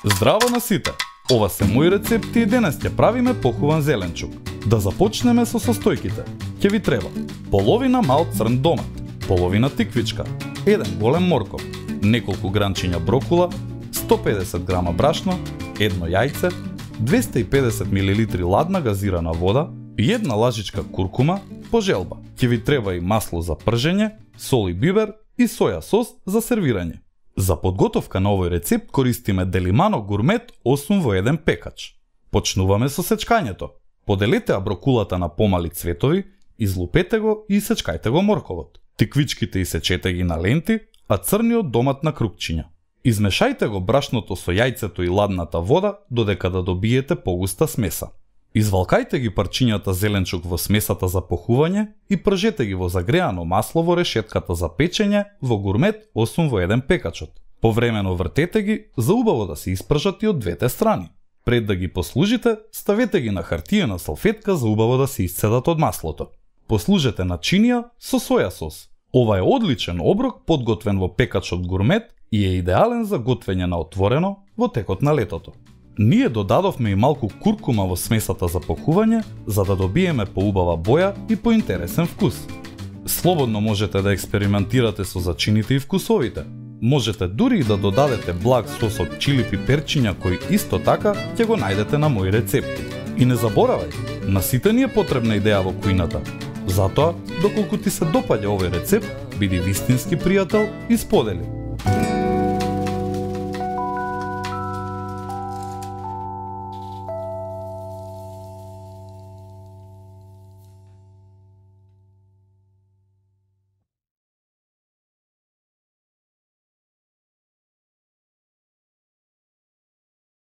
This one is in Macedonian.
Здраво на сите! Ова се мои рецепти и денес ќе правиме похуван зеленчук. Да започнеме со состојките. Ќе ви треба половина мал црн домат, половина тиквичка, еден голем морков, неколку гранчиња брокула, 150 грама брашно, едно јајце, 250 мл ладна газирана вода и една лажичка куркума по желба. Ќе ви треба и масло за пржење, сол и бибер и соја сос за сервирање. За подготовка на овој рецепт користиме Делимано Гурмет 8 во 1 пекач. Почнуваме со сечкањето. Поделете брокулата на помали цветови, излупете го и сечкајте го морковот. Тиквичките исечете ги на ленти, а црниот домат на крупчиња. Измешајте го брашното со јајцето и ладната вода додека да добиете погуста смеса. Извалкајте ги парчињата зеленчук во смесата за похување и пржете ги во загреано масло во решетката за печење во Гурмет 8 во 1 пекачот. Повремено вртете ги за убаво да се испржат и од двете страни. Пред да ги послужите, ставете ги на хартиена салфетка за убаво да се исцедат од маслото. Послужете начинија со соја сос. Ова е одличен оброк подготвен во пекачот Гурмет и е идеален за готвење на отворено во текот на летото. Ние додадовме и малку куркума во смесата за похување, за да добиеме поубава боја и поинтересен вкус. Слободно можете да експериментирате со зачините и вкусовите. Можете дури и да додадете благ сос од чили пиперчиња кој исто така ќе го најдете на мои рецепти. И не заборавај, на сите ни е потребна идеја во кујната. Затоа, доколку ти се допаѓа овој рецепт, биди вистински пријател и сподели.